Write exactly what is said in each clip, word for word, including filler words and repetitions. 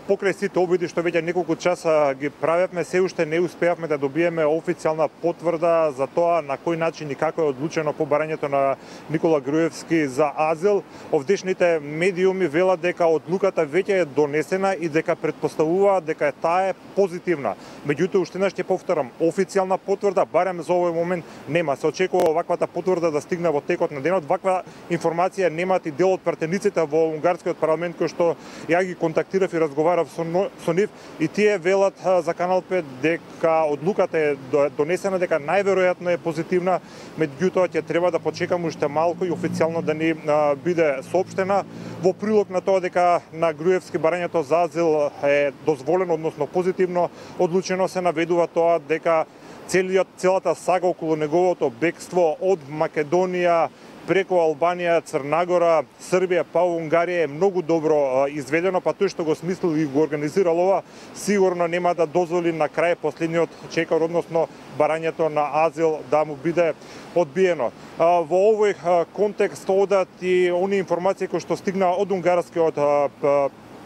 покрај сите обиди што веќе неколку часа ги правевме, се уште не успеавме да добиеме официјална потврда за тоа на кој начин и како е одлучено по барањето на Никола Груевски за азил. Овдешните медиуми велат дека одлуката веќе е донесена и дека претпоставуваат дека таа е позитивна. Меѓутоа, уште еднаш ќе повторам, официјална потврда барем за овој момент нема. Се очекува ваквата потврда да стигне во текот на денот. Ваква информација немаат и дел од пратениците во унгарскиот парламент кој што ја ги контактирав и разговарав со, со нив, и тие велат за Канал пет дека одлуката е донесена, дека најверојатно е позитивна, меѓутоа ќе треба да почекаме уште малку и официјално да ни а, биде соопштена. Во прилог на тоа дека на Груевски барањето за азил е дозволено, односно позитивно одлучено, се наведува тоа дека целиот целата сага околу неговото бегство од Македонија преку Албанија, Црнагора, Србија, па Унгарија е многу добро изведено, па тој што го смислил и го организирал ова, сигурно нема да дозволи на крај последниот чекор, односно барањето на азил да му биде одбиено. Во овој контекст одат и они информации кои што стигна од унгарскиот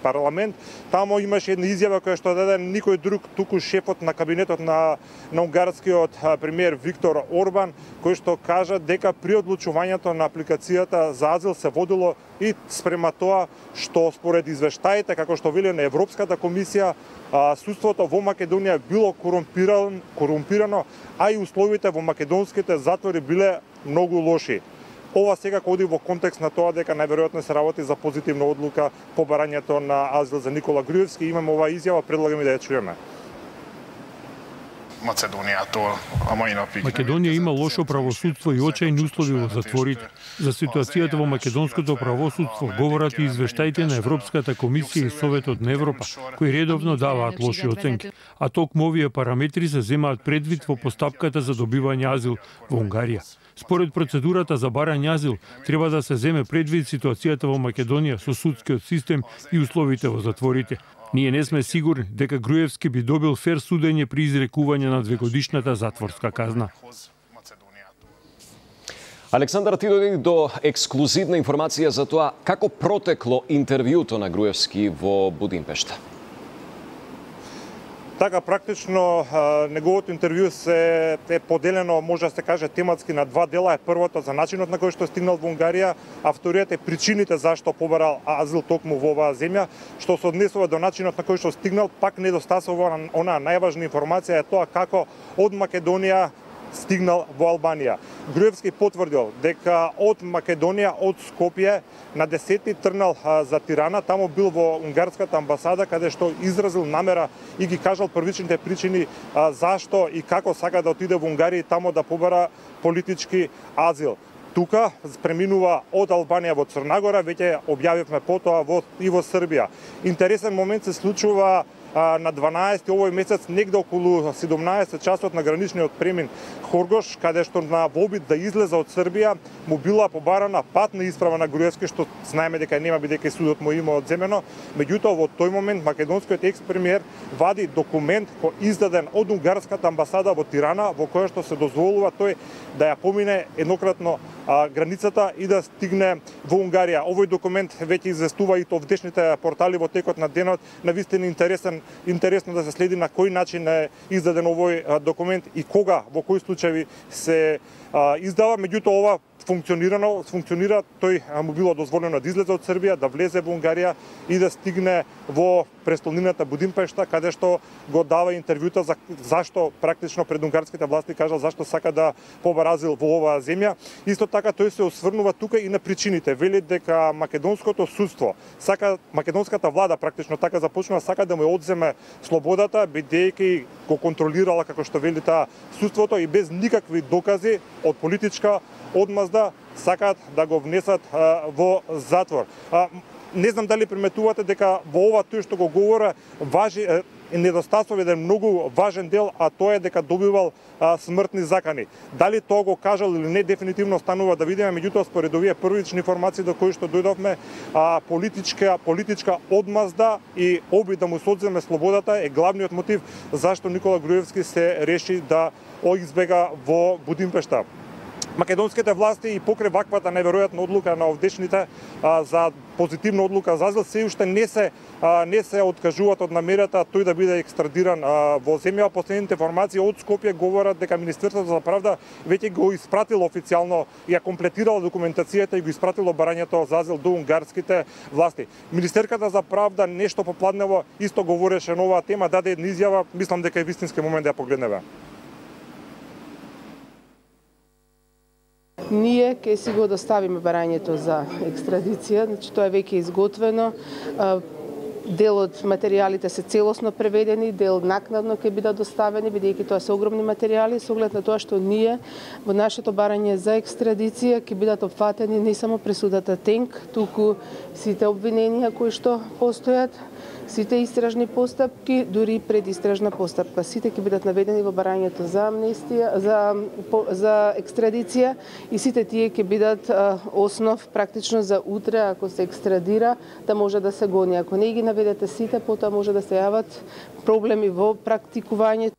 парламент. Тамо имаше една изјава која што даде никој друг, туку шефот на кабинетот на, на унгарскиот премиер Виктор Орбан, кој што кажа дека при одлучувањето на апликацијата за азил се водило и спрема тоа што според извештаите, како што вели на Европската комисија, судството во Македонија било корумпирано, корумпирано, а и условите во македонските затвори биле многу лоши. Ова секако оди во контекст на тоа дека најверојатно се работи за позитивна одлука по барањето на азил за Никола Груевски. Имаме оваа изјава, предлагам и да ја чуеме. Македонија има лошо правосудство и очајни услови во затворите. За ситуацијата во македонското правосудство говорат и извештаите на Европската комисија и Советот на Европа, кои редовно даваат лоши оценки, а токму овие параметри се земаат предвид во постапката за добивање азил во Унгарија. Според процедурата за барање азил, треба да се земе предвид ситуацијата во Македонија со судскиот систем и условите во затворите. Ние не сме сигурни дека Груевски би добил фер судење при изрекување на двегодишната затворска казна. Александар, ти дојди до ексклузивна информација за тоа како протекло интервјуто на Груевски во Будимпешта. Така, практично неговото интервју се е поделено, може да се каже, тематски на два дела. Е првото за начинот на кој што стигнал во Унгарија, а вториот е причините зашто побарал азил токму во оваа земја, што се однесува до начинот на кој што стигнал. Пак недостасува онаа најважна информација е тоа како од Македонија стигнал во Албанија. Груевски потврдил дека од Македонија, од Скопје, на десети тргнал за Тирана, таму бил во унгарската амбасада, каде што изразил намера и ги кажал првичните причини зашто и како сака да отиде во Унгарија и таму да побара политички азил. Тука преминува од Албанија во Црнагора, веќе објавивме потоа во, и во Србија. Интересен момент се случува на дванаесети овој месец, негде околу седумнаесет часот на граничниот премин Хоргош, каде што на обид да излезе од Србија му била побарана патна исправа на Груевски, што знаеме дека нема бидејќи судот му има одземено. Меѓутоа во тој момент македонскиот екс-премиер вади документ кој издаден од унгарската амбасада во Тирана, во кој што се дозволува тој да ја помине еднократно а, границата и да стигне во Унгарија. Овој документ веќе известува и овдешните портали во текот на денот. Навистина интересен интересно да се следи на кој начин е издаден овој документ и кога, во кои случаи се а, издава. Меѓутоа ова функционирано, функционира, тој му било дозволено да излезе од Србија, да влезе во Унгарија и да стигне во престолнината Будимпешта, каде што го дава интервјута за зашто практично пред унгарските власти кажал зашто сака да побара азил во оваа земја. Исто така тој се осврнува тука и на причините. Вели дека македонското судство сака, македонската влада практично така започнува, сака да му одземе слободата, бидејќи го контролирала, како што вели таа, судството и без никакви докази од политичка одмазда сакаат да го внесат а, во затвор. А, не знам дали приметувате дека во ова тој што го говора важи е, недостасува еден многу важен дел, а тоа е дека добивал а, смртни закани. Дали тоа го кажал или не, дефинитивно станува да видиме, меѓутоа според овие првични информации до кои што дојдовме, а, политичка политичка одмазда и обид да му се одземе слободата е главниот мотив зашто Никола Груевски се реши да избега во Будимпешта. македонските власти и покрај ваквата неверојатна одлука на овдешните а, за позитивна одлука за азил се уште не се а, не се откажуваат од намерата тој да биде екстрадиран а, во земја. Последните информации од Скопје говорат дека Министерството за правда веќе го испратило официјално и ја комплетирало документацијата и го испратило барањето за азил до унгарските власти. Министерката за правда нешто попладнево исто говореше на оваа тема, даде една изјава, мислам дека е вистински момент да ја погледнеме. Ние ќе си го доставиме барањето за екстрадиција, значи тоа е веќе изготвено. Дел од материјалите се целосно преведени, дел накнадно ќе бидат доставени, бидејќи тоа се огромни материјали, со оглед на тоа што ние во нашето барање за екстрадиција ќе бидат опфатени не само пресудата Тенк, туку сите обвиненија кои што постојат, сите истражни постапки, дури предистражна постапка. Сите ќе бидат наведени во барањето за амнестија, за за екстрадиција и сите тие ќе бидат а, основ практично за утре ако се екстрадира да може да се гони. Ако не ги наведете сите, потоа може да се јават проблеми во практикувањето.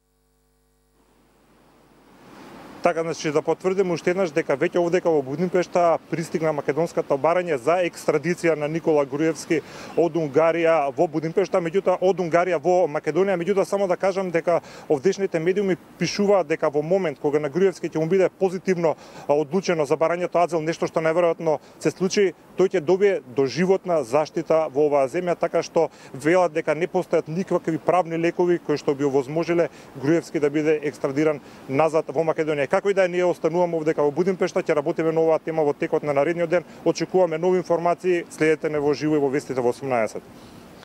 Така, значи, да потврдиме уште еднаш дека веќе овдека во Будимпешта пристигна македонската барање за екстрадиција на Никола Груевски од Унгарија во Будимпешта, меѓутоа од Унгарија во Македонија. Меѓутоа само да кажам дека овдешните медиуми пишуваат дека во момент кога на Груевски ќе му биде позитивно одлучено за барањето азил, нешто што неверојатно се случи, тој ќе добие доживотна заштита во оваа земја, така што велат дека не постојат никакви правни лекови кои што би овозможиле Груевски да биде екстрадиран назад во Македонија. Како и да е, ние остануваме овдека во Будимпешта, ќе работиме на оваа тема во текот на наредниот ден. Очекуваме нови информации, следете не во живо и во вестите во осумнаесет.